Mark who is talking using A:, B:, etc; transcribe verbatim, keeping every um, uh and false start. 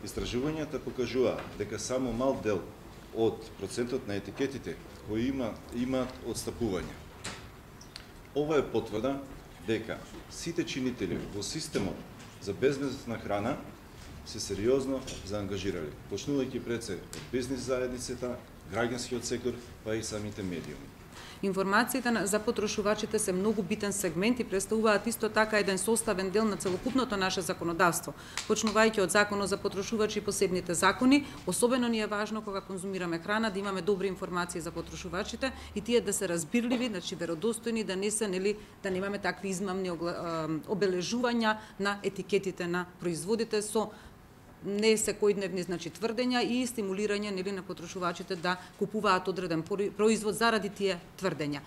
A: Истражувањата покажуваат дека само мал дел од процентот на етикетите кои има имаат отстапување. Ова е потврда дека сите чинители во системот за безбедна храна се сериозно заангажирали, почнувајќи пред се од бизнис заедницата, граѓанскиот сектор, па и самите медиуми.
B: Информациите за потрошувачите се многу битен сегмент и представуваат исто така еден составен дел на целокупното наше законодавство. Почнувајќи од Законот за потрошувачи и посебните закони, особено ни е важно кога конзумираме храна да имаме добри информации за потрошувачите и тие да се разбирливи, значи веродостојни, да не се нели да немаме такви измамни обележувања на етикетите на производите со не секојдневни значи тврдења и стимулирање нели на потрошувачите да купуваат одреден производ заради тие тврдења.